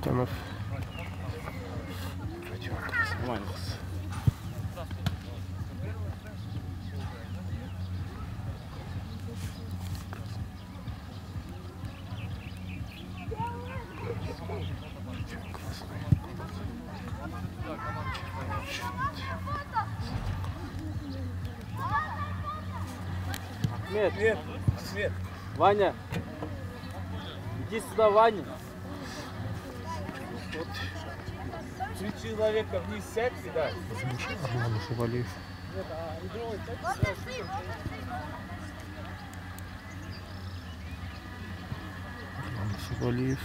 Тамов. Свет. Ваня. Иди сюда, Ваня. 3 человека вниз сядь и дай. Арман Шубалиев. Арман Шубалиев.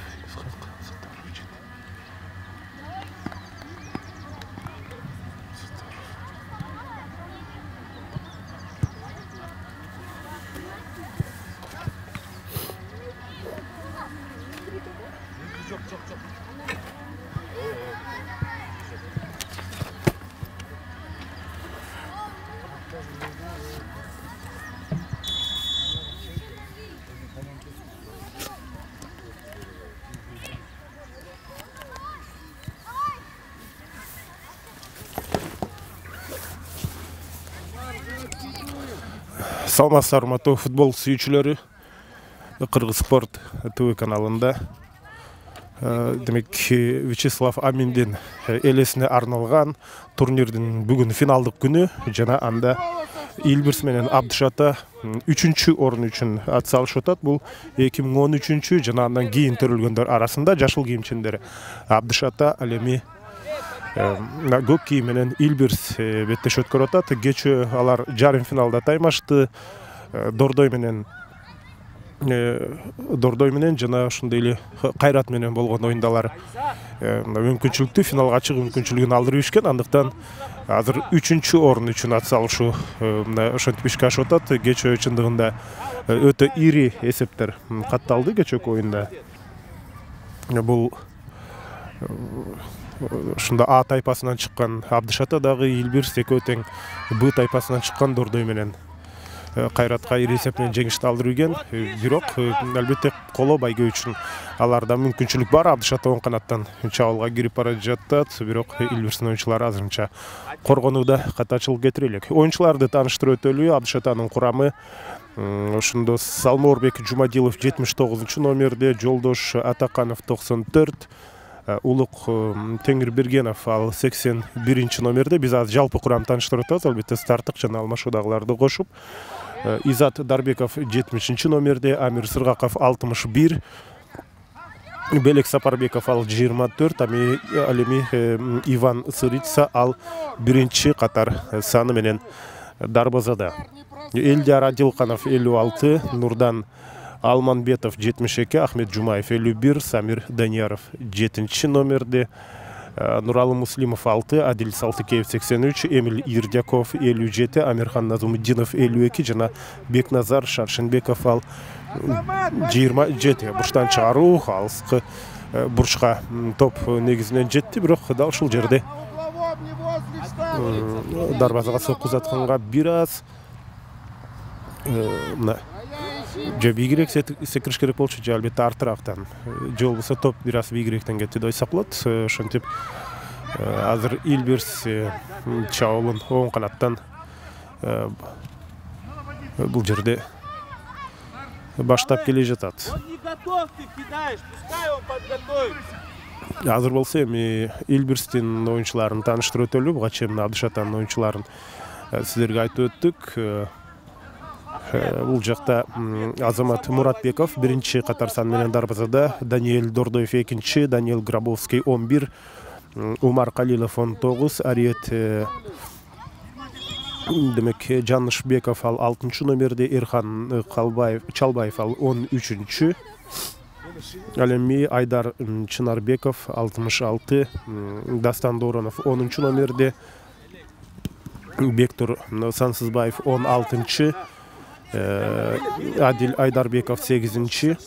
Саламатсыздар, урматтуу футбол сүйүүчүлөрү. Кыргыз спорт ТВ каналында демек Вячеслав Аминдин элесине арналган турнирдин бүгүн финалдык күнү жана анда Илбирс менен Абдышата 3-чү орун үчүн ат салышып атат. Бул 2013 жана андан кийин төрөлгөндөр арасында жашыл кийимчендер Абдышата ал эми көк кийим менен Илбирс беттешип өткөрүп атат. Кечээ алар жарым финалда таймашты. Дордой менен жана ошондой эле Кайрат менен болгон оюндалар мүмкүнчүлүктүү финалга чыгуу мүмкүнчүлүгүн алдырып ишкен. Андыктан азыр 3-чү орун үчүн ат салышуу ошентип ишке ашып атат. Кечээ чындыгында өтө ири эсептер катталды кечээки оюнда. Бул ушунда А тайпасынан чыккан Абдышата дагы Илбирс экөө тең Б тайпасынан чыккан Дордой менен Кайратка ири эсеп менен жеңишти алдырып ийген. Бирок албетте коло байгө үчүн аларда мүмкүнчүлүк бар. Абдышата оң канаттан чабуулга кирип бара жатат. Бирок Илбирстин оюнчулары азырынча коргонууда катачылык кетире элек. Оюнчуларды тааныштырып өтөлү. Абдышатанын курамы ошондо Салморбек Жумадилов 79 номерде, Жолдош Атаканов 94, Улук Теңирбергенов ал 81 номерде. Биз азыр жалпы курамды тааныштырып атабыз, албетте старттык жана алмашуудагыларды кошуп. Изат Дарбеков 70 номерде, Амир Сыргаков 61, Белек Сапарбеков ал 24, ал эми Иван Сырыца ал 1-чи катар саны менен дарбазада. Элдияр Адилканов 56, Нурдан Алманбетов 72, Ахмет Жумаев 51, Самир Данияров 7 номерде, Нуралы Муслимов 6, Адил Салтыкеев 83, Эмиль Ирдяков 57, Амирхан Назумуддинов 52 жана Бекназар Шаршенбеков ал 27. Бурчтан чыгаруу алыскы бурчка топ негизинен жетти, бирок дал ушул жерде дарбазага соккузатканга бир аз же бийигирээк секириш керек болчу, же албетте артырактан, же болбосо топ бир аз бийигирээктен кетти деп ойсок болот. Ошентип азыр Илбирс чабуулун оң канаттан бул жерде баштап келе жатат. Азыр болсо эми Илбирстин оюнчуларын тааныштырып өтөлү. Буга чейин Абдышатанын оюнчуларын сиздерге айтып өттүк. Бул жакта Азамат Муратбеков 1-чи катар сан менен дарбазада, Даниэль Дордоев 2-чи, Даниэл Грабовский 11, Умар Калилов 19, Ариет демек Жанышбеков ал 6-чы номерде, Эрхан Чалбаев ал 13-чү, ал эми Айдар Чынарбеков 66, Дастан Доронов 10-чы номерде, Бектур Сансызбаев 16-чы, Адил Айдарбеков 8-чи,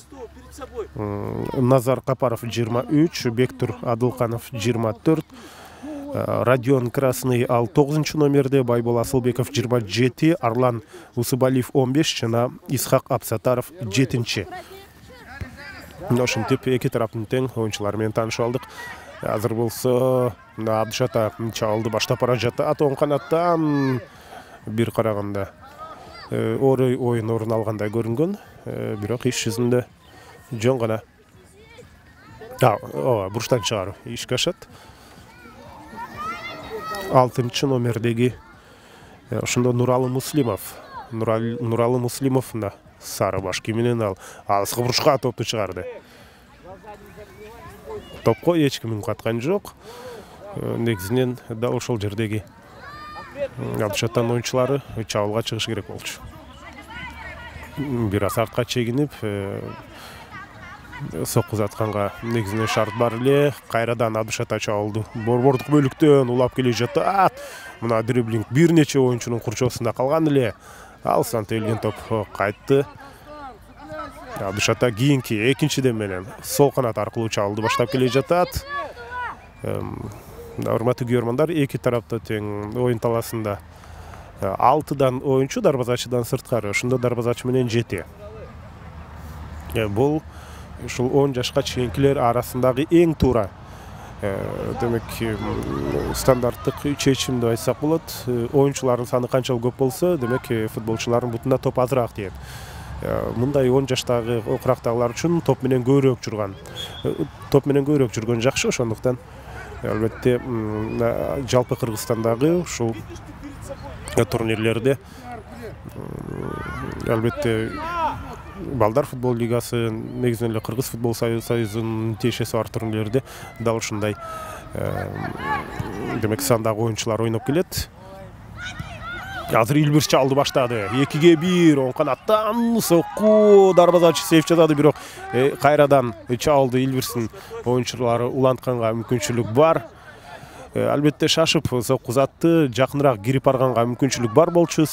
Назар Капаров 23, Бектур Адылканов 24, Родион Красный ал 9-номерде, Байбол Асылбеков 27, Арлан Усыбалиев 15 жана Исхак Абсатаров 7. Ошентип эки тараптын тең оюнчулары менен таанышып алдык. Азыр болсо Абдышата чабуулду баштап бара жатат. Оң канаттан бир караганда орой оюн орун алгандай көрүнгөн, бирок иш жүзүндө жөн гана буруштан чыгаруу ишке ашат. 6-номердеги ошондо Нуралы Муслимов мына сары баш кийиминен ал алыскы бурушка топту чыгарды. Топко эч ким каткан жок. Негизинен да ошол жердеги Абдышаттан оюнчулары чабуулга чыгыш керек болчу. Бир аз артка чегинип, сокку затканга негизинен шарт бар эле. Кайрадан Абдышата чабуулду борбордук бөлүктөн улап келе жатат. Мына дриблинг бир нече оюнчунун курчоосунда калган эле. Алсан телген топ кайтты. Абдышата кийинки экинчиден менен сол канат аркылуу чабуулду баштап келе жатат. Урматтуу көрөрмандар, эки тарапта тең оюн талаасында 6 оюнчу дарбазачыдан сырткары, ошондо дарбазачы менен 7. Бул ушул 10 жашка чейинкилер арасындагы эң туура демек стандарттык чечим деп айтсак болот. Оюнчулардын саны канчалык көп болсо, демек футболчулардын бутунда топ азыраак тиет. Мындай 10 жаштагы окурактагылар үчүн топ менен көбүрөөк жүргөн жакшы. Ошондуктан албетте жалпы Кыргызстандагы ушул турнирлерде албетте балдар футбол лигасы, негизинен эле Кыргыз футбол союзунун тиешеси бар турнирлерде дал ушундай демек сандагы оюнчулар ойноп келет. Азыр Илбирс чалды баштады. 2-1 оң канаттан сокку дарбазачы сейф жасады, бирок кайрадан чалды Илбирстин оюнчулары улантканга мүмкүнчүлүк бар. Албетте шашып сокку затты жакыныраак кирип барганга мүмкүнчүлүк бар болчу.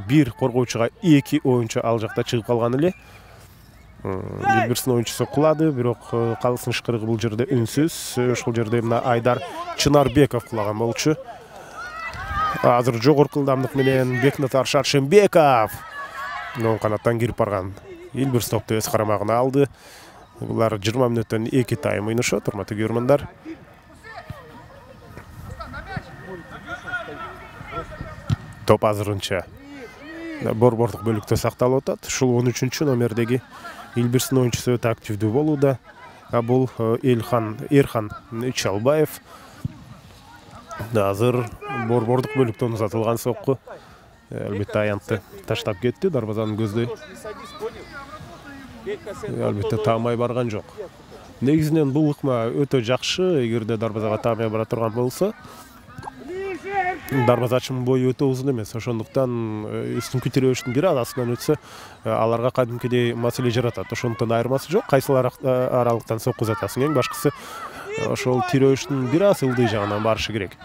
Бир коргоочуга 2 оюнчу ал жакта чыгып калган эле. Илбирстин оюнчусу кулады, бирок калыстын ышкырыгы бул жерде үнсүз. Ошол жерде мына Айдар Чынарбеков кулаган болчу. Азыр жогорку ылдамдык менен Бекназар Шаршембеков оң канаттан кирип барган. Илбирс топту өз карамагына алды. Булар 20 мүнөттөн 2 тайм ойношот, урматтуу көрөрмандар. Топ азырынча борбордук бөлүктө сакталып атат. Ушул 13-номердеги Илбирстин оюнчусу өтө активдүү болууда. Бул Эрхан Чалбаев. Азыр борбордук бөлүктөн узатылган сокку албетте аянтты таштап кетти, дарбазанын көздөй. Албетте таамай барган жок. Негизинен бул ыкма өтө жакшы. Эгерде дарбазага таамай бара турган болсо, дарбазачынын бою өтө узун эмес. Ошондуктан үстүнкү тирөөштүн бир азасынан өтсө, аларга кадимкидей маселе жаратат. Ошондуктан айырмасы жок. Кайсыл аралыктан сокку узатасың, эң башкысы ошол тирөөштүн бир аз ылдый жагынан барышы керек.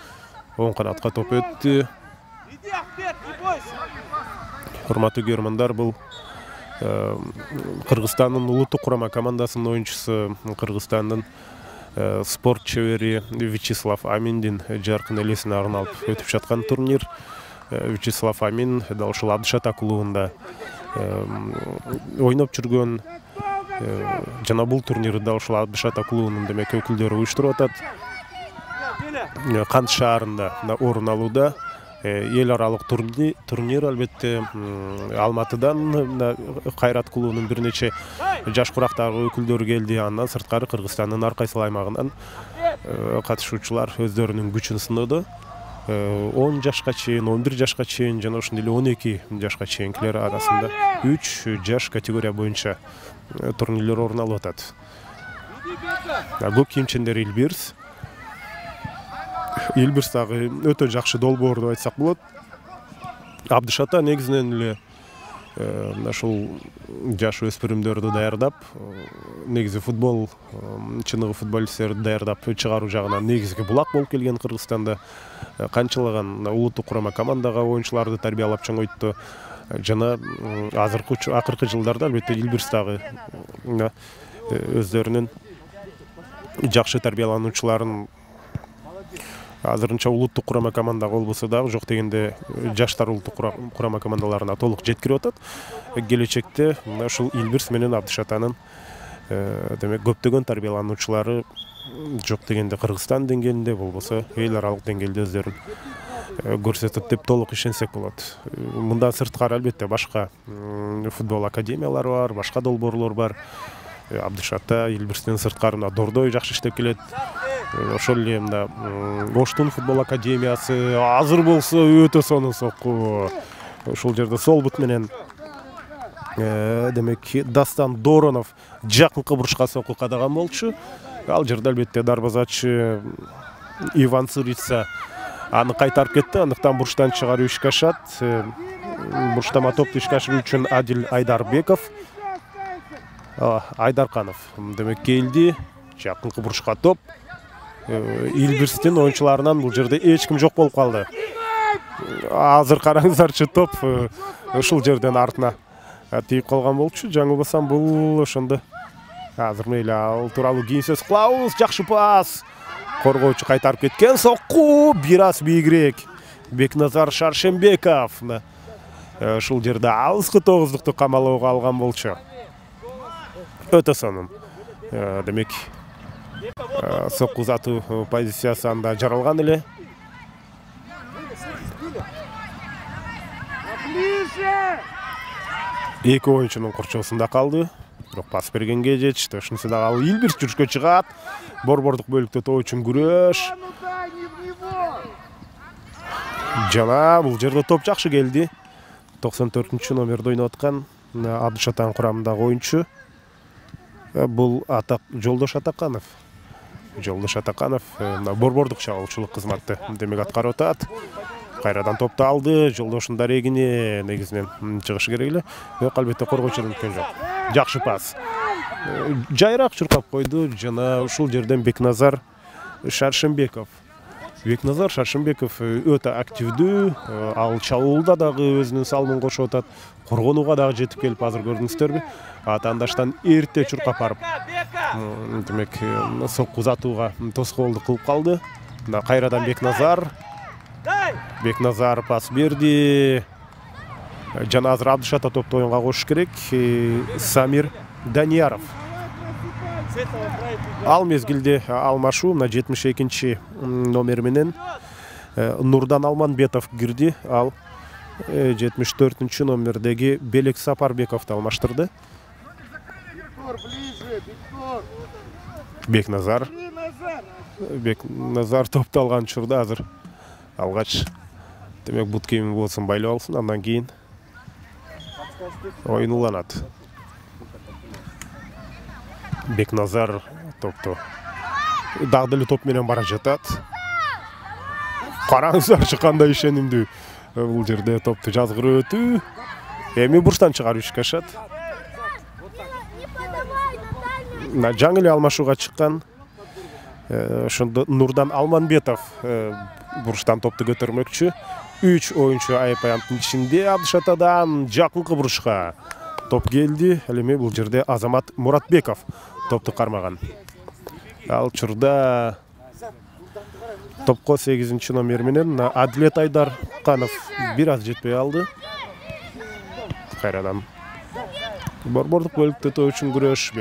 Оң канатка топ өттү. Урматтуу көрөрмандар, бул Кыргызстандын улуттук курама командасынын оюнчусу, Кыргызстандын спорт чебери Вячеслав Аминдин жаркын элесине арналып өтүп жаткан турнир. Вячеслав Амин дал ушул Абдышата клубунда ойноп жүргөн жана бул турнирди дал ушул Абдышата клубунун демек өкүлдөрү уюштуруп атат. Кант шаарында орун алууда. Эл аралык турнир албетте Алматыдан Кайрат клубунун бир нече жаш курактагы өкүлдөрү келди. Андан сырткары Кыргызстандын ар кайсы аймагынан катышуучулар өздөрүнүн күчүн сынады. 10 жашка чейин, 11 жашка чейин жана ошондой эле 12 жашка чейинкилер арасында 3 жаш категория боюнча турнирлер орун алып атат. Көк кийимчендер Илбирс. Илбирс дагы өтө жакшы долбоор деп айтсак болот. Абдышата негизинен эле ушул жаш өспүрүмдөрдү даярдап, негизи футбол чыныгы футболисттерди даярдап чыгаруу жагынан негизги булак болуп келген Кыргызстанда. Канчалаган улуттук курама командага оюнчуларды тарбиялап чоңойтtu. Жана акыркы жылдарда албетте Илбирс дагы өздөрүнүн жакшы тарбиялануучуларын азырынча улуттук курама командага болбосо дагы жок дегенде жаштар улуттук курама командаларына толук жеткирип атат. Келечекте мына ушул Илбирс менен Абдышатанын демек көптөгөн тарбиялануучулары жок дегенде Кыргызстан деңгээлинде болбосо эл аралык деңгээлде өздөрүн көрсөтөт деп толук ишенсек болот. Мындан сырткары албетте башка футбол академиялары бар, башка долбоорлор бар. Абдышата Илбирстен сырткары Дордой жакшы иштеп келет. Ошол эле мында Оштун футбол академиясы азыр болсо өтө сонун сокку. Ошол жерде сол бут менен демек Дастан Доронов жакынкы бурушка сокку кадаган болчу. Ал жерде албетте дарбазачы Иван Цырица аны кайтарып кетти. Андыктан буруштан чыгаруу ишке ашат. Буруштама топту ишке ашыруу үчүн Адил Айдарбеков, Айдарканов демек келди. Жакынкы бурушка топ. Илбирстин оюнчуларынан бул жерде эч ким жок болуп калды. Азыр караңыздарчы, топ ушул жерден артына тийип калган болчу. Жаңылбасам бул ошондо азыр мейли ал тууралуу кийин сөз кылабыз. Жакшы пас. Коргоочу кайтарып кеткен, сокку бир аз бийигирээк. Бекназар Шаршембеков ушул жерде алыскы тогуздукту камалоого алган болчу. Өтө сонун. Демек сокку узатуу позициясы анда жаралган эле. Эки оюнчунун корчоосунда калды. Бирок пас бергенге жетишти. Ошонусу дагы ал Илбирс жүрүшкө чыгат. Борбордук бөлүктө топ үчүн күрөш. Жана бул жерде топ жакшы келди. 94-чү номерде ойноп аткан Абдышатан курамындагы оюнчу. Бул Жолдош Атаканов. Жолдош Атаканов борбордук чабуулчулук кызматты демек аткарып атат. Кайрадан топту алды. Жолдошун дарегине негизинен чыгышы керек эле. Бирок албетте коргоочудон өткөн жок. Жакшы пас. Жайраак чуркап койду жана ушул жерден Бекназар Шаршембеков. Бекназар Шаршембеков өтө активдүү. Ал чабуулда дагы өзүнүн салымын кошуп атат. Коргонууга дагы жетип келип азыр көрдүңүздөрбү? Атаандаштан эрте чуркап барып демек сокку узатууга тоскоолдук кылып калды. Мына кайрадан Бекназар пас берди. Жана азыр Абдышата топту оюнга кошуш керек. Самир Данияров. Ал мезгилде алмашуу мына 72-чи номер менен Нурдан Алманбетов кирди. Ал 74-чү номердеги Белек Сапарбековду алмаштырды. Бекназар топту алган учурда азыр алгач демек бут кийими болсун байлап алсын, андан кийин оюн уланат. Бекназар топту дагы деле топ менен бара жатат. Караңыздарчы кандай ишенимдүү. Бул жерде топту жазгырып өтүү. Эми буруштан чыгаруу ишке ашат. Жаңы эле алмашууга чыккан ошондо Нурдан Алманбетов буруштан топту көтөрмөкчү. 3 оюнчу айып-аянттын ичинде Абдышатадан жакынкы бурушка топ келди. Ал эми бул жерде Азамат Муратбеков топту кармаган. Ал учурда топко 8-чи номер менен Адилет Айдарканов бир аз жетпей алды. Кайрадан борбордук бөлүктө топ үчүн күрөш.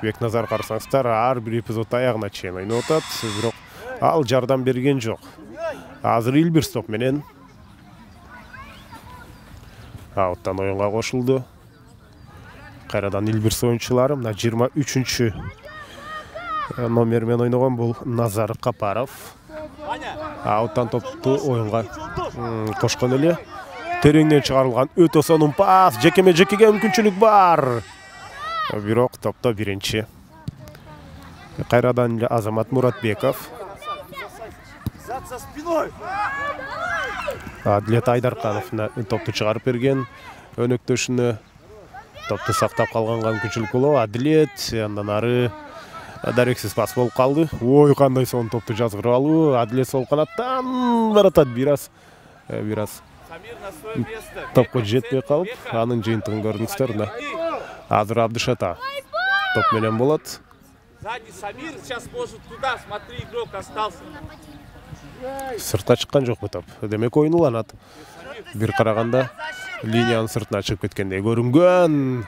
Бекназар карасаңыздар ар бир эпизод аягына чейин ойноп атат, бирок ал жардам берген жок. Азыр Илбирс топ менен ауттан оюнга кошулду. Кайрадан Илбирс оюнчулары мына 23-чү номер менен ойногон бул Назар Капаров. Ауттан топту оюнга кошкон эле. Тереңден чыгарылган өтө сонун пас, жекеме-жекеге мүмкүнчүлүк бар. Бирок топто биринчи. Кайрадан эле Азамат Муратбеков. Адилет Айдарканов топту чыгарып берген. Өнөктөшүнө топту сактап калганга мүмкүнчүлүк болобу? Адилет андан ары дарексиз пас болуп калды. Ой, кандай сонун топту жазгырып алуу. Адилет сол канаттан баратат бир аз топко жетпей калып, анын жыйынтыгын көрдүңүздөр. Азыр Абдышата топ менен болот. Сзади Самир сейчас может туда, смотри, игрок остался. Сыртка чыккан жокпу топ. Демек оюн уланат. Бир караганда линиянын сыртына чыгып кеткендей көрүнгөн.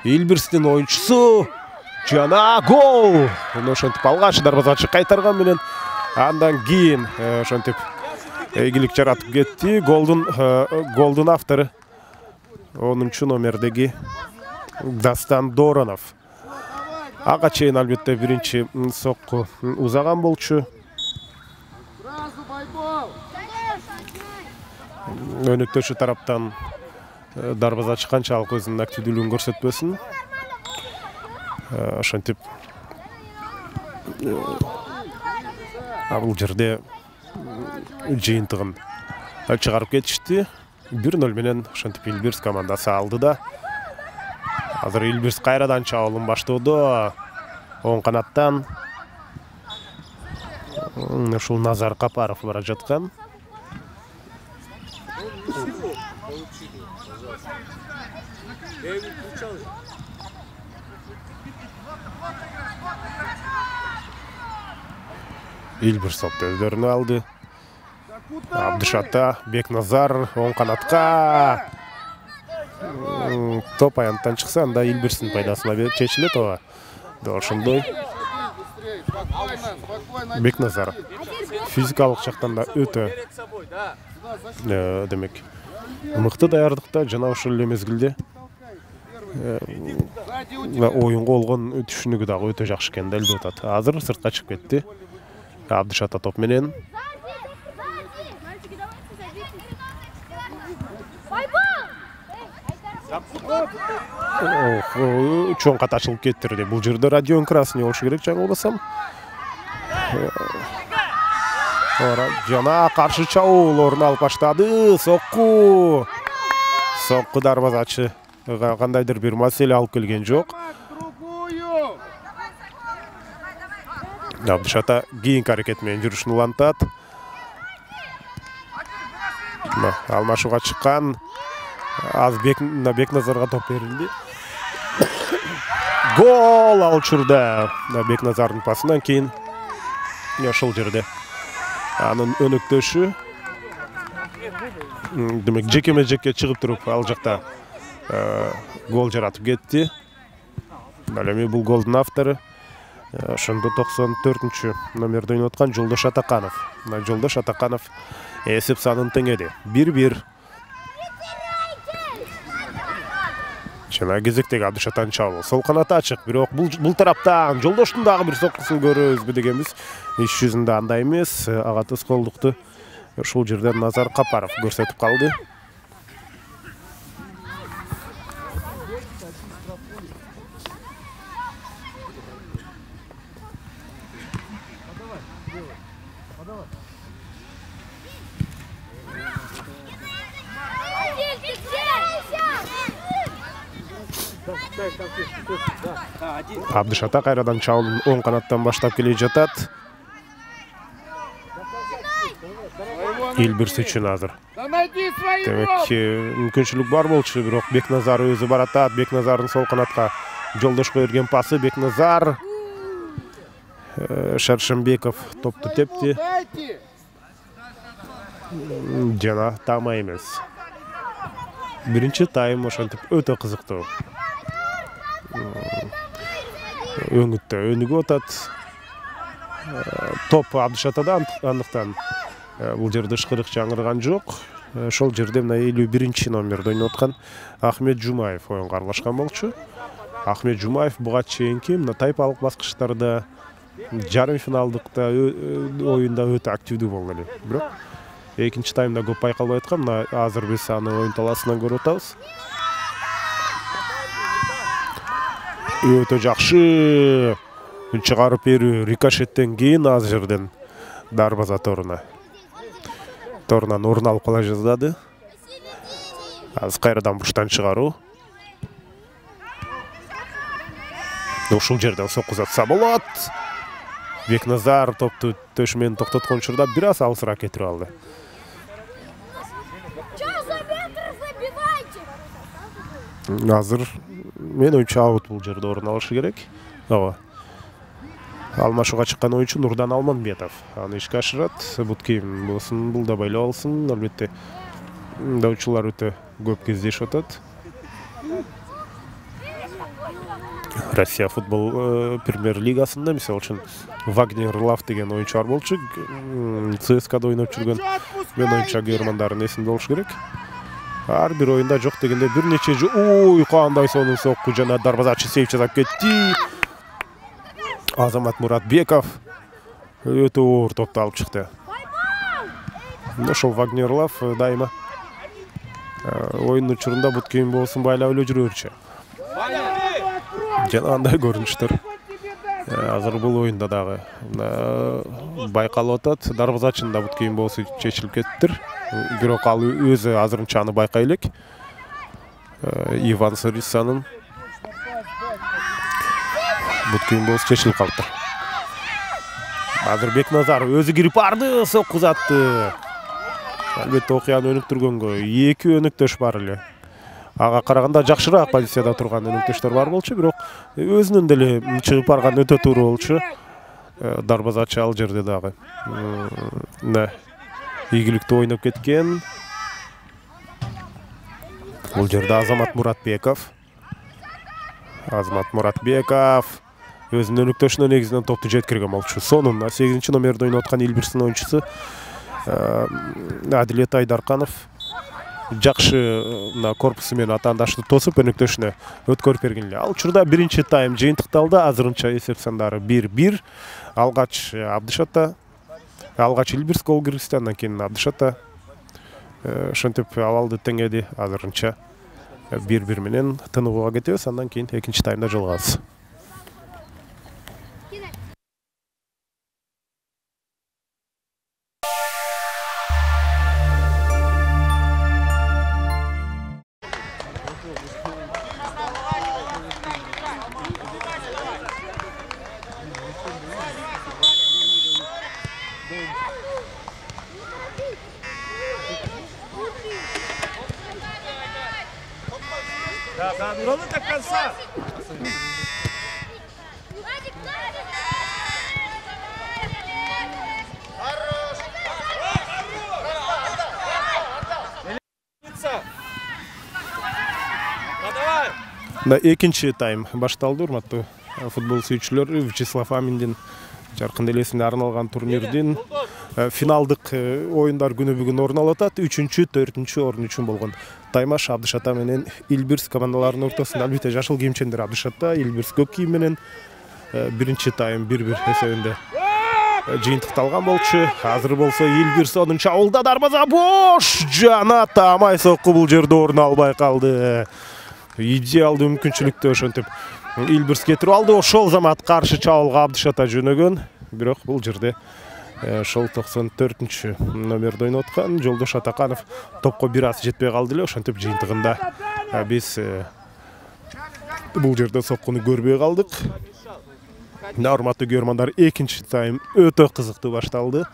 Илбирстин оюнчусу жана гол. Муну ошентип алгач дарбазачы кайтарган менен андан кийин ошентип ийгилик жаратып кетти. Голдун автору 10-номердеги Дастан Доронов. Ага чейин албетте биринчи сокку узаган болчу. Өнөктөшү тараптан дарбазачы канчалык өзүнүн активдүүлүгүн көрсөтпөсүн. Ошентип бул жерде жыйынтыгын чыгарып кетишти. 1-0 менен ошентип Илбирс командасы алды да. Азыр Илбирс кайрадан чабуулун баштоодо. Оң канаттан ушул Назар Капаров бара жаткан. Илбирс топты өздөрүнө алды. Абдышата, Бекназар оң канатка. Топ аянттан чыкса, анда Илбирстин пайдасына чечилет ооба. Ошондой. Бекназар физикалык жактан да өтө демек мыкты даярдыкта жана ошол эле мезгилде оюнга болгон түшүнүгү дагы өтө жакшы экенин далилдеп атат. Азыр сыртка чыгып кетти. Абдышата топ менен. Чоң кат ачылып кеттирди. Бул жерде Радион Красный болушу керек, жаңылбасам. Жана каршы чабуул орун алып баштады. Сокку дарбазачы кандайдыр бир маселе алып келген жок. Абдышата кийинки аракет менен жүрүшүн улантат. Алмашууга чыккан. Аз Бекназарга топ берилди. Гол ал учурда Бекназардын пасынан кийин ошол жерде анын өнөктөшү демек жекеме-жекке чыгып туруп ал жакта гол жаратып кетти. Ал эми бул голдун автору ошондо 94-номерде ойноп аткан Жолдош Атаканов. Жолдош Атаканов эсеп санын теңеди. 1-1. Жана кезектеги Абдышатан чабуул. Сол канат ачык, бирок бул тараптан Жолдоштун дагы бир соккусун көрөбүзбү дегенбиз. Иш жүзүндө андай эмес. Ага тоскоолдукту ушул жерден Назар Капаров көрсөтүп калды. Абдышата кайрадан чабуулун оң канаттан баштап келе жатат. Илбирс үчүн азыр. Демек, мүмкүнчүлүк бар болчу, бирок Бекназар өзү баратат. Бекназардын сол канатка Жолдошко берген пасы. Бекназар. Шаршембеков топту тепти. Жана тама эмес. Биринчи тайм ошентип өтө кызыктуу. Өңүттө өнүгүп атат. Топ Абдышатада андыктан бул жерде ышкырык жаңырган жок. Ошол жерде мына 51-номерде ойноп аткан Ахмет Жумаев оюнга аралашкан болчу. Ахмет Жумаев буга чейинки мына тайпалык баскычтарда жарым финалдыкта оюнда өтө активдүү болгон эле. Бирок экинчи таймда көп байкалбай аткан. Мына азыр биз аны оюн талаасынан көрүп атабыз. Өтө жакшы чыгарып берүү. Рикошеттен кийин аз жерден дарбаза торунан орун алып кала жаздады. Аз кайрадан бурчтан чыгаруу. Ушул жерден сокку затса болот. Бекназар топту төшү менен токтоткон учурда бир аз алысыраак кетирип алды. Азыр мен оюнчу аут бул жерде орун алышы керек. Ооба. Алмашууга чыккан оюнчу Нурдан Алманбетов аны ишке ашырат. Бут кийим болсун, бул да байлап алсын. Албетте даучулар өтө көп кездешип атат. Россия футбол премьер-лигасында мисалы үчүн Вагнер Лав деген оюнчу бар болчу. ЦСКАда ойноп жүргөн. Мен оюнчу германдардын эсинде болуш керек. Ар бир оюнда жок дегенде бир нече ой кандай сонун сокку жана дарбазачы сейф жасап кетти. Азамат Муратбеков өтө оор топту алып чыкты. Ошол Вагнер Лав дайыма оюн учурунда бут кийим болсун байлап эле жүрөрчү. Жана андай көрүнүштөр азыр бул оюнда дагы байкалып атат. Дарбазачынын бут кийим болсу чечилип кеттир. Бирок ал өзү азырынча аны байкай элек. Иван Сарисанын бут кийим болсу чечилип калыптыр. Азыр Бекназар өзү кирип барды, сокку узатты. Албетте окуяны өнүктүргөнгө эки өнүктөш бар эле. Ага караганда жакшыраак позицияда турган өнүктөштөр бар болчу, бирок өзүнүн деле чыгып барган өтө туура болчу. Дарбазачы ал жерде дагы ийгиликтүү ойноп кеткен. Бул жерде Азамат Муратбеков өзүнүн өнүктөшүнө негизинен топту жеткирген болчу. Сонун 8 номерде ойноп аткан Илбирстин оюнчусу Адилет Айдарканов жакшы корпусу менен атаандашты тосуп өнүктөшүнө өткөрүп берген эле. Ал учурда биринчи тайм жыйынтыкталды. Азырынча эсеп сандары 1-1. Алгач Абдышатта, алгач Илбирс гол киргизди, андан кийин Абдышатта ошентип абалды теңеди. Азырынча 1-1 менен тыныгууга кетебиз, андан кийин экинчи таймда жолугабыз. Duralım da kansa. Экинчи тайм башталды, урматтуу футбол сүйүүчүлөр. Вячеслав Аминдин жаркын элесине арналган турнирдин финалдык оюндар күнү бүгүн орун алып атат. 3-4 орун үчүн болгон таймаш Абдышата менен Илбирс командаларынын ортосунда. Албетте жашыл кийимчендер Абдышата, Илбирс көк кийим менен биринчи тайм 1-1 эсебинде жыйынтыкталган болчу. Азыр болсо Илбирс онунчу абылда дарбаза бош жана тамай сокку бул жерде орун албай калды. Идеалдуу мүмкүнчүлүктү ошентип Илбирс кетирип алды. Ошол замат каршы чабуулга Абдышата жөнөгөн. Бирок бул жерде ошол 94 номерде ойноп аткан Жолдош Атаканов топко бир аз жетпей калды эле. Ошентип жыйынтыгында биз бул жерде соккуну көрбөй калдык. Урматтуу көрөрмандар, экинчи тайм өтө кызыктуу башталды.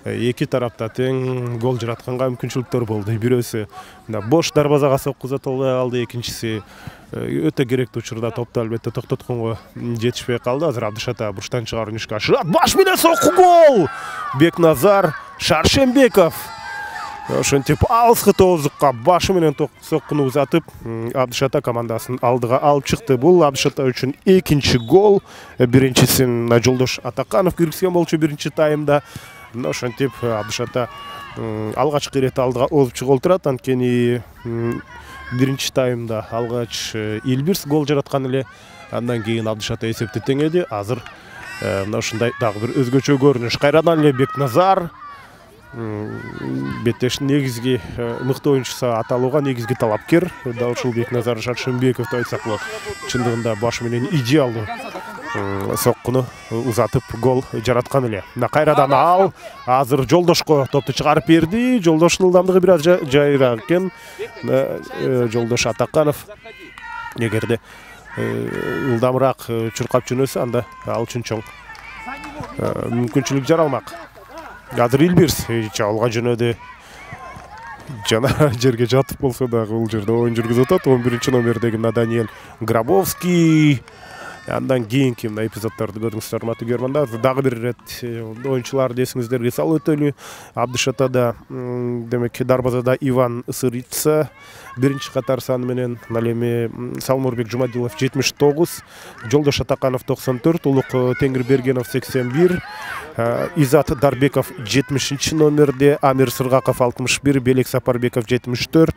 Эки тарапта тең гол жаратканга мүмкүнчүлүктөр болду. Бирөөсү бош дарбазага сокку узата албай калды, экинчиси өтө керектүү учурда топту албетте токтотконго жетишпей калды. Азыр Абдышата бурчтан чыгарууну ишке ашырат. Баш менен сокку гол! Бекназар Шаршембеков ошентип алыскы тоозукка башы менен соккуну узатып Абдышата командасын алдыга алып чыкты. Бул Абдышата үчүн экинчи гол. Биринчисин Жолдош Атаканов киргизген болчу биринчи таймда. Ошентип Абдышата алгачкы ирет алдыга озуп чыгып отурат. Анткени биринчи таймда алгач Илбирс гол жараткан эле. Андан кийин Абдышата эсепти теңеди. Азыр мына ушундай дагы бир өзгөчө көрүнүш. Кайрадан эле Бекназар беттештин негизги мыкты оюнчусу аталууга негизги талапкер. Дал ушул Бекназар Шаршембековду айтсак болот. Чындыгында баш менен идеалдуу соккуну узатып гол жараткан эле. Кайрадан ал азыр Жолдошко топту чыгарып берди. Жолдоштун ылдамдыгы бир аз жайыраак экен. Жолдош Атаканов эгерде ылдамыраак чуркап жөнөсө, анда ал үчүн чоң мүмкүнчүлүк жаралмак. Азыр Илбирс чабуулга жөнөдү. Жана жерге жатып болсо дагы бул жерде оюн жүргүзүп атат. 11 номердеги Даниэль Грабовский Андан кийинки мына эпизоддорду көрдүңүздөр, урматтуу көрөрмандар. Дагы бир ирет оюнчуларды эсиңиздерге салып өтөлү. Абдышатада демек дарбазада Иван Сырыца биринчи катар саны менен, ал эми Салмурбек Жумадилов 79, Жолдош Атаканов 94, Улук Теңирбергенов 81, Изат Дарбеков 70 номерде, Амир Сыргаков 61, Белек Сапарбеков 74,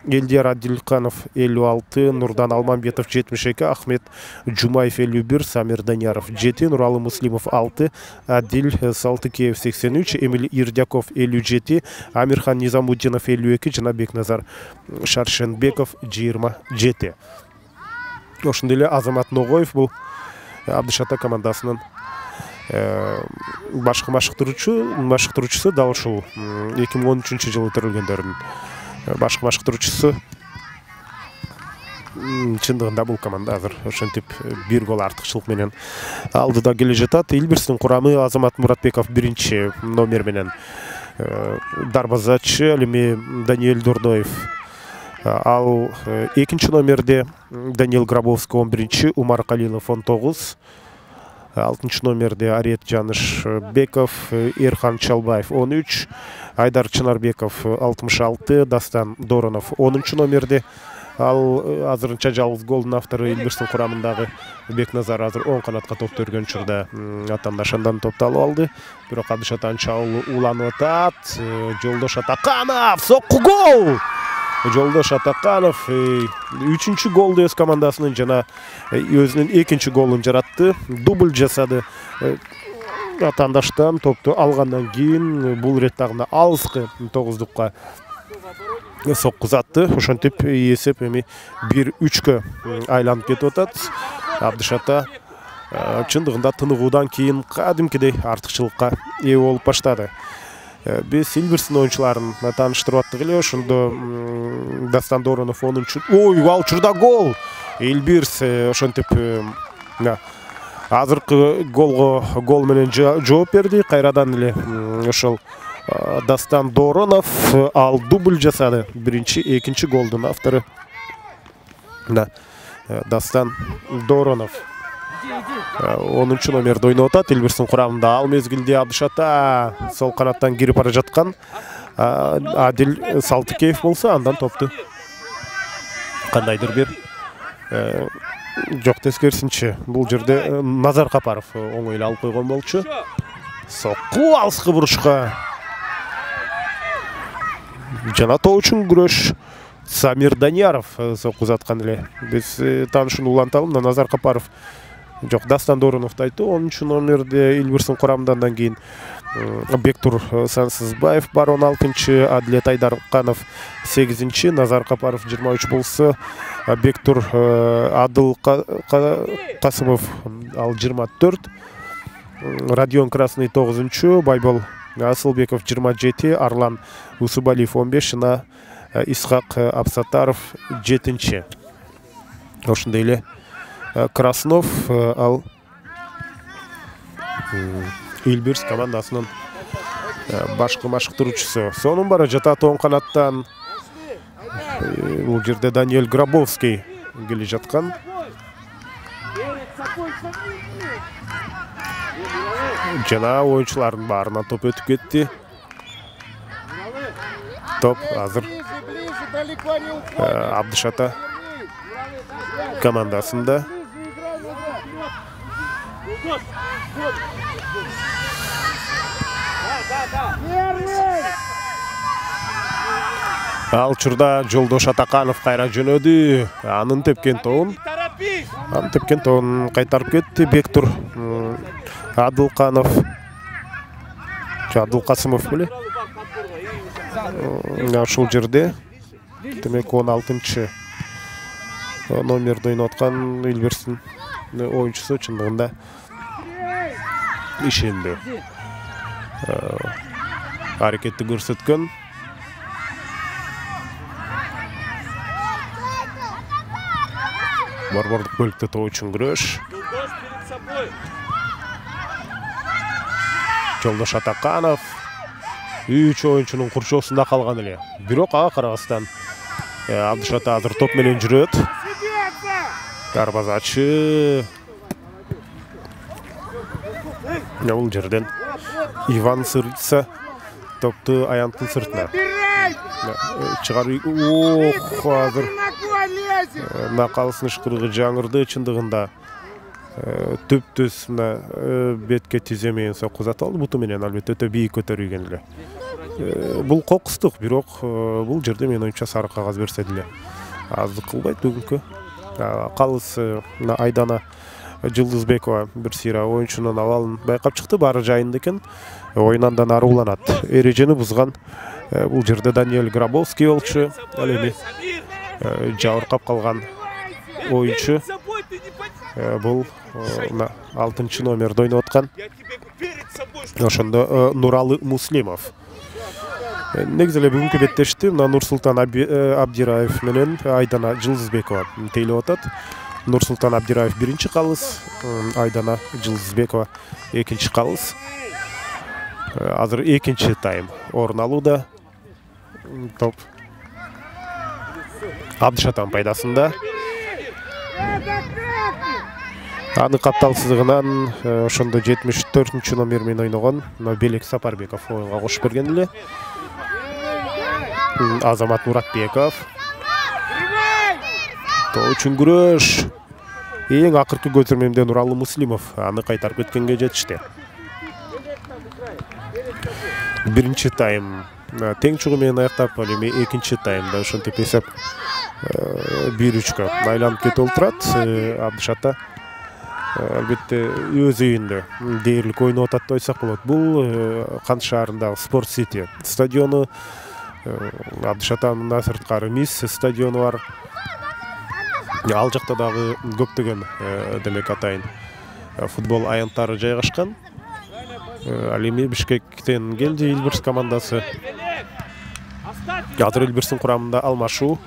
Элдияр Адилканов 56, Нурдан Алмамбетов 72, Ахмет Жумаев 51, Самир Данияров 7, Нуралы Муслимов 6, Адил Салтыкеев 83, Эмиль Ирдяков 57, Амирхан Низамуддинов 52, жана Бекназар Шаршенбеков 27. Ошондой эле Азамат Ногоев бул Абдышата командасынын башкы машыктыруучусу, дал ушул 2013-жылы төрөлгөндөрдүн башкы машыктыруучусу. Чындыгында бул команда азыр ошентип бир гол артыкчылык менен алдыда келе жатат. Илбирстин курамы Азамат Муратбеков 1 номер менен дарбазачы, ал эми Даниэль Дурдоев, ал 2 номерде Даниил Грабовский 11, Умар Калилов 19, 6 номерде Арет Жанышбеков, Эрхан Чалбаев 13, Айдар Чынарбеков 66, Дастан Доронов 10 номерде. Ал азырынча жалгыз голдун автору Илбирстин курамындагы Бекназар азыр оң канатка топ төргөн учурда атаандашандан топту алып алды. Бирок Абдышат анча уланып атат. Жолдош Атаканов сокку гол! Жолдош Атаканов 3-чү голду өз командасынын жана өзүнүн 2-чи голун жаратты. Дубль жасады. Атаандаштан топту алгандан кийин бул ирет дагы алыскы 9-дукка соккузатты. Ошентип эсеп эми 1-3кө айланып кетип атат. Абдышата чындыгында тыныгуудан кийин кадимкидей артыкчылыкка ээ болуп баштады. Биз Илбирстин оюнчуларын тааныштырып аттык эле. Ошондо Дастан Доронов 10-чу. Ой, ал учурда гол! Илбирс ошентип азыркы гол менен жооп берди. Кайрадан эле ошол Дастан Доронов ал дубль жасады. 1-2 голдун автору Дастан Доронов 10 номерде ойноп атат. Илбирстин курамында ал мезгилде Абдышата сол канаттан кирип бара жаткан Адил Салтыкеев болсо, андан топту кандайдыр бир жок тескерисинче бул жерде Назар Капаров оңой эле алып койгон болчу. Сокку алыскы бурушка жана тоочун күрөш. Самир Данияров соккузаткан эле. Биз таанышууну уланталы. Назар Капаров жок, Дастан Дороновду айтты. 10 номерде Илбирстин курамынан кийин Бектур Сансызбаев бар 16, Адлет Айдарканов 8, Назар Капаров 23 болсо, Бектур Адыл Касымов ал 24, Родион Красный 9, Байбол Асылбеков 27, Арлан Усубалиев 15, жана Исхак Абсатаров 7. Ошондой эле Краснов ал Илбирс командасынын башкы машыктыруучусу. Сонун бара жатат оң канаттан. Бул жерде Даниэль Грабовский келе жаткан. Жана оюнчулардын баарынан топ өтүп кетти. Топ азыр Абдышата командасында. Ал учурда Жолдош Атаканов кайра жөнөдү. Анын тепкен тобун кайтарып кетти Бектур Адылканов. Адылкасымов беле? Ушул жерде демек 16 номерде ойноп аткан Илбирстин оюнчусу чындыгында ишендүү аракетти көрсөткөн. Борбордук бөлүктө тоочун күрөш. Жолдош Атаканов 3 оюнчунун курчоосунда калган эле. Бирок ага карабастан Абдышата азыр топ менен жүрөт. Дарбазачы Бул жерден Иван Сырца топту аянттын сыртына чыгарып азыр накалысын ышкырыгы жаңырды. Чындыгында түптүз бетке тизе менен сокку алды. Буту менен албетте өтө бийик көтөрүлгөн эле. Бул кокустук, бирок бул жерде менин оюмча сары кагаз берсе деле аздык кылбайт бүгүнкү. Калыс Айдана Жылдызбекова бир сыйра оюнчунун абалын байкап чыкты. Баары жайында экен. Оюн андан ары уланат. Эрежени бузган бул жерде Даниэль Грабовский болчу. Ал эми жабыркап калган оюнчу. Бул 6 номерде ойноп аткан. Ошондо Нуралы Муслимов. Негизи эле бүгүнкү беттешти Нурсултан Абдираев менен Айдана Жылдызбекова тейлеп атат. Нурсултан Абдираев биринчи калыс, Айдана Жылдызбекова экинчи калыс. Азыр экинчи тайм орун алууда. Топ Абдышатан пайдасында. Аны капталсыздыгынан ошондо 74 номер менен ойногон Белек Сапарбеков оюнга кошуп берген эле. Азамат Муратбеков. То үчүн күрөш. Эң акыркы көтөрмөмдө Нуралы Муслимов аны кайтарып кеткенге жетишти. Биринчи тайм тең чугу менен аяктап, ал эми экинчи таймда ошентип эсеп 1-3-кө айланып кетип отурат. Абдышата албетте өз үйүндө дээрлик ойноп атат деп айтсак болот. Бул Кант шаарындагы Спорт Сити стадиону. Абдышатанын сырткары Мисс стадиону бар. Ал жакта дагы көптөгөн демек атайын футбол аянттары жайгашкан. Ал эми Бишкектен келди Эльбирс командасы. Азыр Эльбирстин курамында алмашуу.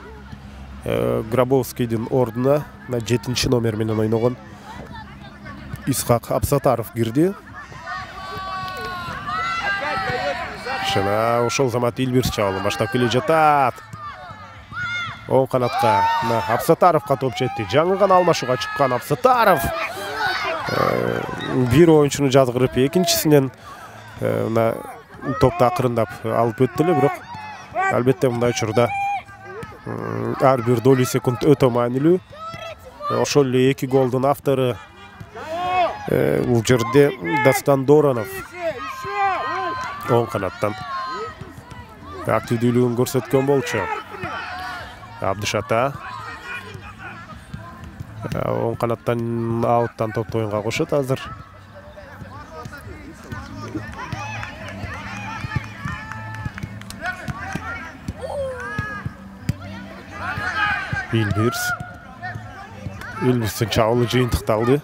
Грабовскийдин ордуна 7 номер менен ойногон Исхак Абсатаров кирди. Жана ошол замат Эльбирс чабуулун баштап келе жатат. Оң канатка Абсатаровго топ жетти. Жаңы гана алмашууга чыккан Абсатаров бир оюнчуну жазгырып, экинчисинен топду акырындап алып өттү эле, бирок албетте мындай учурда ар бир долю секунд өтө маанилүү. Ошол эле 2 голдун автору бул жерде Дастан Доронов оң канаттан активдүүлүгүн көрсөткөн болчу. Абдышата оң канаттан ауттан топту оюнга кошот азыр. Эльбирстин чабуулу жыйынтыкталды.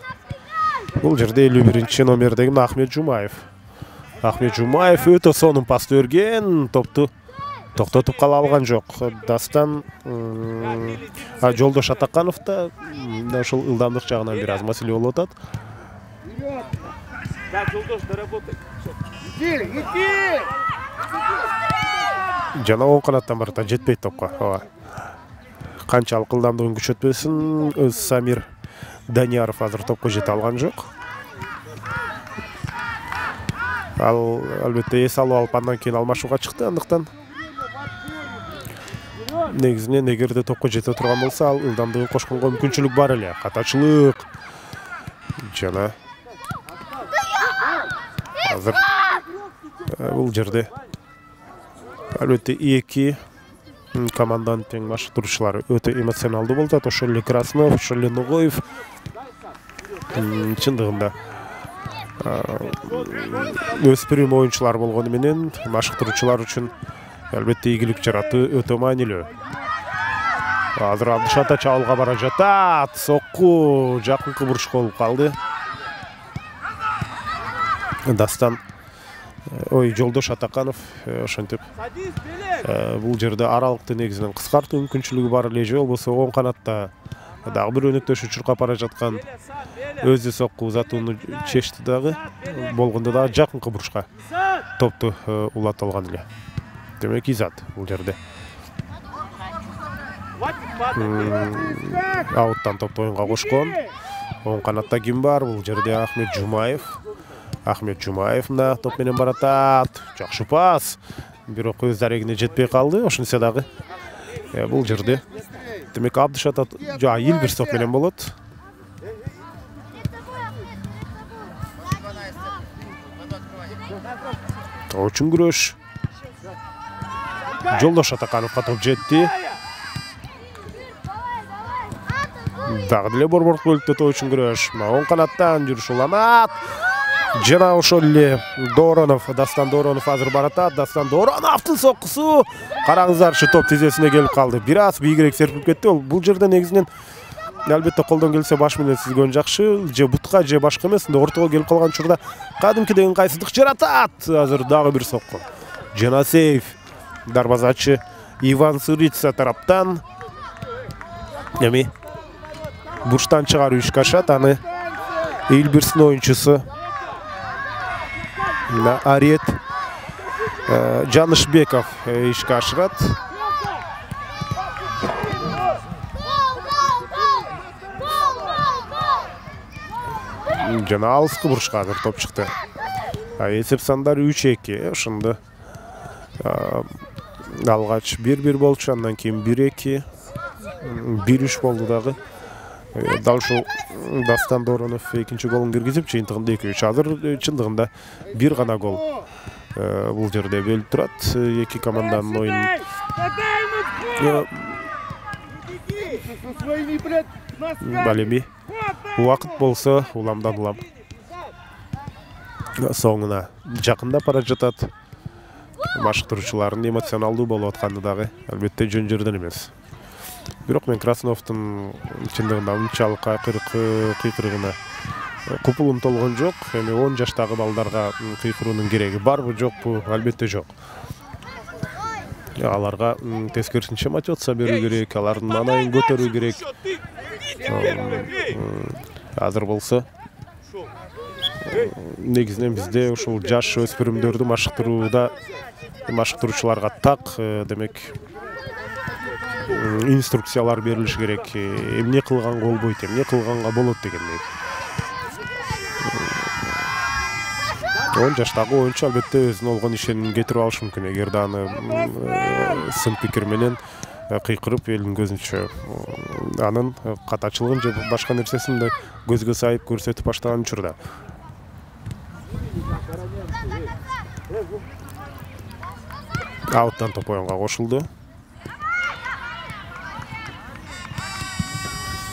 Бул жерде 51 номердеги Ахмет Жумаев. Ахмет Жумаев өтө сонун пас берген, топту токтотуп кала алган жок. Дастан Жолдош Атаканов да ошол ылдамдык жагынан бир аз маселе болуп атат. Жана оң канаттан барата жетпейт топко. Канчалык ылдамдыгын күчөтпөсүн, Самир Данияров азыр топко жете алган жок. Ал албетте эс алып алып андан кийин алмашууга чыкты. Андыктан негизинен эгерде топко жете турган болсо, ал ылдамдыгын кошконго мүмкүнчүлүк бар эле. Катачылык жана азыр бул жерде албетте эки команданын тең машыктыруучулары өтө эмоционалдуу болуп атат. Ошол эле Краснов, ошол эле Ногоев. Чындыгында өспүрүм оюнчулар болгону менен машыктыруучулар үчүн албетте ийгилик жаратуу өтө маанилүү. Азыр Абдышата чабуулга бара жатат. Сокку жакынкы бурушка болуп калды. Дастан Жолдош Атаканов ошентип бул жерде аралыкты негизинен кыскартуу мүмкүнчүлүгү бар эле, же болбосо оң канатта дагы бир өнөктөшү чуркап бара жаткан өзү сокку узатууну чечти дагы. Болгондо дагы жакынкы бурушка топту улата алган эле. Демек изат бул жерде. Ауттан топту оюнга кошкон. Оң канатта ким бар? Бул жерде Ахмет Жумаев. Ахмет Жумаев мына топ менен баратат. Жакшы пас. Бирок өз дарегине жетпей калды. Ошентсе дагы бул жерде демек Абдышат Илбирс топ менен болот. Очень күрөш. Жолдош Атакановго топ жетти. Дагы деле борбордук бөлүктө очень күрөш. Оң канаттан жүрүш уланат. Жана ошол эле Дастан Доронов азыр баратат. Дастан Дороновдун соккусу. Караңыздарчы, топ тизесине келип калды. Бир аз бийигирээк серпип кетти. Бул жерде негизинен албетте колдон келсе баш менен сүзгөн жакшы, же бутка же башка эмес, ортого келип калган учурда кадимкидей ыңгайсыздык жаратат. Азыр дагы бир сокку. Жанасеев, дарбазачы Иван Сырыца тараптан эми бурчтан чыгаруу ишке ашат. Аны Илбирстин оюнчусу Арет Жанышбеков ишке ашырат. Жана алыскы бурчка азыр топ чыкты. Эсеп сандары 3-2. Ошондо алгач 1-1 болчу, андан кийин 1-2, 1-3 болду дагы. Дал ушул Дастан Доронов экинчи голун киргизип, чыйынтыгында 2-3. Азыр чындыгында бир гана гол бул жерде бөлүп турат. Эки команданын оюнун балеми убакыт болсо уламдан улам соңуна жакындап бара жатат. Башкыруучулардын эмоционалдуу болуп атканы дагы албетте жөн жерден эмес. Бирок мен Красновдун чындыгында унчалык кыйкырыгына купулум толгон жок. Эми 10 жаштагы балдарга кыйкыруунун кереги барбы жокпу? Албетте жок. Аларга тескерисинче мотивация берүү керек, алардын маанайын көтөрүү керек. Азыр болсо негизинен бизде ушул жаш өспүрүмдөрдү машыктыруучуларга так демек инструкциялар берилиш керек. Эмне кылганга болбойт, эмне кылганга болот дегендей. 10 жаштагы оюнчу албетте өзүнө болгон ишенимин кетирип алышы мүмкүн. Эгерде аны сын пикир менен кыйкырып элдин көзүнчө анын катачылыгын же башка нерсесин да көзгө сайып көрсөтүп баштаган учурда. Ауттан топ оюнга кошулду.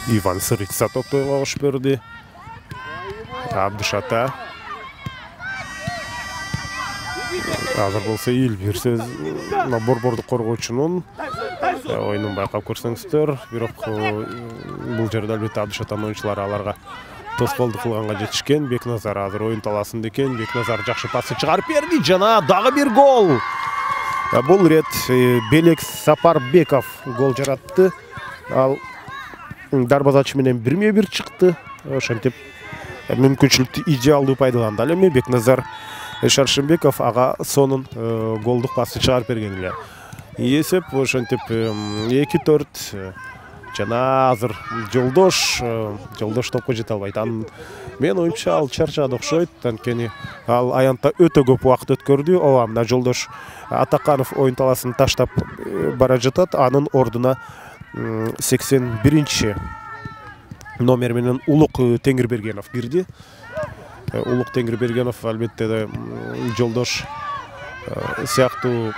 Иван Сырыца топ оюнга кошуп берди. Абдышата. Азыр болсо Илбирс борбордук коргоочунун оюнун байкап көрсөңүздөр. Бирок бул жерде албетте Абдышатанын оюнчулары аларга тоскоолдук кылганга жетишкен. Бекназар азыр оюн талаасында экен. Бекназар жакшы пасты чыгарып берди. Жана дагы бир гол. Бул ирет Белек Сапарбеков гол жаратты. Ал дарбазачы менен 1-1 чыкты. Ошентип мүмкүнчүлүктү идеалдуу пайдаланды. Ал эми Бекназар Шаршембеков ага сонун голдук пасты чыгарып берген эле. Эсеп ошентип 2-4. Жана азыр Жолдош топко жете албайт. Мен оюнчу ал чарчады окшойт. Анткени ал аянтта өтө көп убакыт өткөрдү. Ооба, мына Жолдош Атаканов оюн талаасын таштап бара жатат. Анын ордуна 81 номер менен Улук Теңирбергенов кирди. Улук Теңирбергенов албетте Жолдош сыяктуу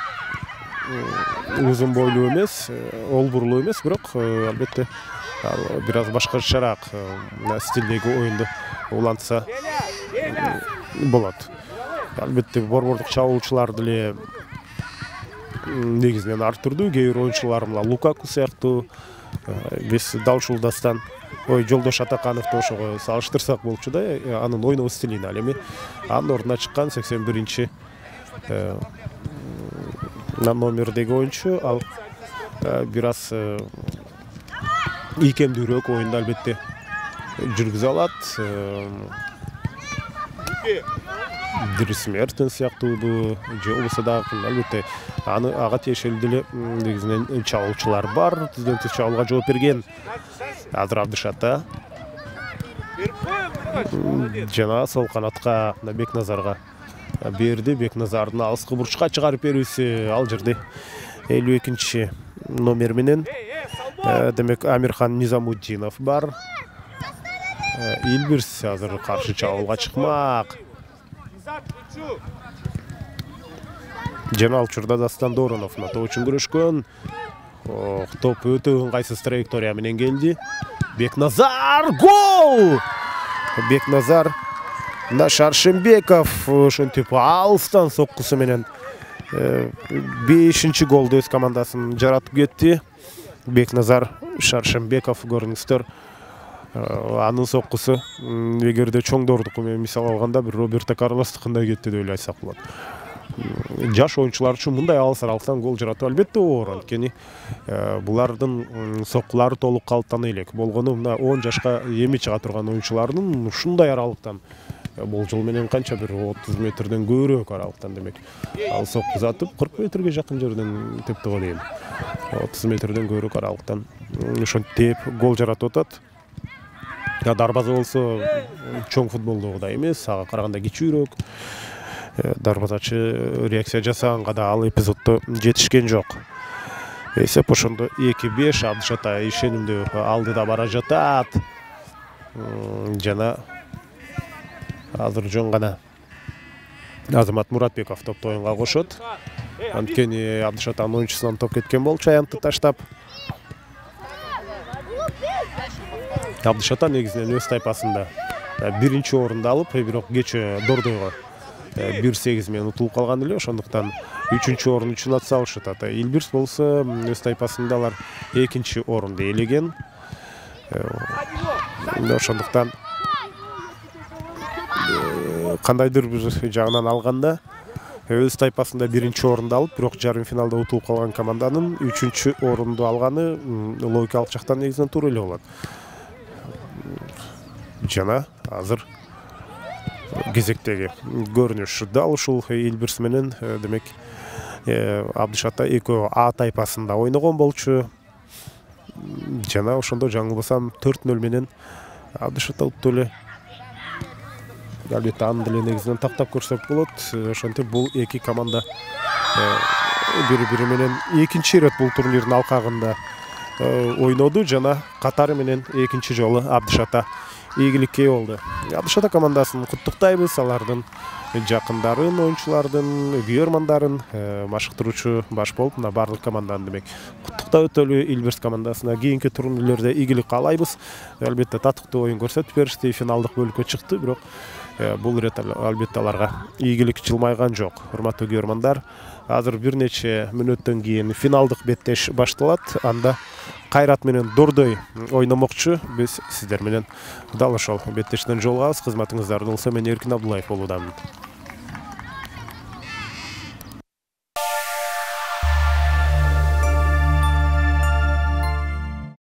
узун бойлуу эмес, олбурлуу эмес, бирок албетте бир аз башкачараак стилдеги оюнду улантса болот. Албетте борбордук чабуулчулар деле негизинен ар түрдүү, кээ бир оюнчулар мына Лукаку сыяктуу, биз дал ушул Дастан Жолдош Атакановду ошого салыштырсак болчу да, анын ойноо стилине. Ал эми анын ордуна чыккан 81 номердеги оюнчу ал бир аз ийкемдүүрөөк оюнду албетте жүргүзө алат. Дрис Мертен сыяктуу же болбосо дагы албетте ага тиешелүү деле негизинен чабуулчулар бар. Тизден тиз чабуулга жооп берген. Азыр Абдышата жана сол канатка Бекназарга берди. Бекназардын алыскы бурчка чыгарып берүүсү ал жерде 52 номер менен демек Амирхан Низамуддинов бар. Илбирс азыр каршы чабуулга чыкмак. Жана ал учурда Дастан Доронов топ үчүн күрөшкөн. Топ өтө ыңгайсыз траектория менен келди. Бекназар гол! Бекназар Шаршембеков ошентип алыстан соккусу менен 5-чи голду өз командасын жаратып кетти. Бекназар Шаршембеков көрүңүздөр. Анын соккусу эгерде чоңдордуку менен мисал алганда бир Роберто Карлостукундай кетти деп айтсак болот. Жаш оюнчулар үчүн мындай алыс аралыктан гол жаратуу албетте оор, анткени булардын соккулары толук калыптана элек. Болгону мына 10 жашка эми чыга турган оюнчулардын ушундай аралыктан болжол менен канча бир 30 метрден көбүрөөк аралыктан демек ал соккузатып 40 метрге жакын жерден тепти го дейм. 30 метрден көбүрөөк аралыктан ошентип гол жаратып атат. Дарбаза болсо чоң футболдогудай эмес, ага караганда кичүүрөөк. Дарбазачы реакция жасаганга да ал эпизоддо жетишкен жок. Эсеп ошондо 2-5 Абдыш Атай ишенимдүү алдыда бара жатат. Жана азыр жөн гана Азамат Муратбеков топту оюнга кошот. Анткени Абдыш Атайдын оюнчусунан топ кеткен болчу аянтты таштап. Абдыш Атай негизинен өз тайпасында биринчи орунду алып, бирок кечээ Дордойго 1-8 менен утулуп калган эле, ошондуктан 3-чү орун үчүн ат салышат. Илбирс болсо өз тайпасында алар 2-чи орунду ээлеген. Ошондуктан кандайдыр бир жагынан алганда өз тайпасында 1-чи орунду алып, бирок жарым финалда утулуп калган команданын 3-чү орунду алганы логикалык жактан негизинен туура эле болот. Жана азыр кезектеги көрүнүш дал ушул Илбирс менен демек Абдыш Атай экөө А тайпасында ойногон болчу. Жана ошондо жаңылбасам 4-0 менен Абдыш Атай утту эле. Албетте аны деле негизинен тактап көрсөк болот. Ошентип бул эки команда бири-бири менен экинчи ирет бул турнирдин алкагында ойноду жана катары менен экинчи жолу Абдыш Атай ийгиликке ээ болду. Абдыш Атай командасын куттуктайбыз, алардын жакындарын, оюнчулардын, күйөрмандарын, машыктыруучу баш болуп, мына барлык команданы демек куттуктап өтөлү. Илбирс командасына кийинки турнирлерде ийгилик каалайбыз. Албетте татыктуу оюн көрсөтүп беришти, финалдык бөлүккө чыкты, бирок бул ирет албетте аларга ийгилик жылмайган жок. Урматтуу күйөрмандар, азыр бир нече мүнөттөн кийин финалдык беттеш башталат. Анда Кайрат менен Дордой ойномокчу. Биз сиздер менен дал ошол беттештен жолугабыз. Кызматыңыздарда болсо мен Эркин Абдуллаев болуудамын.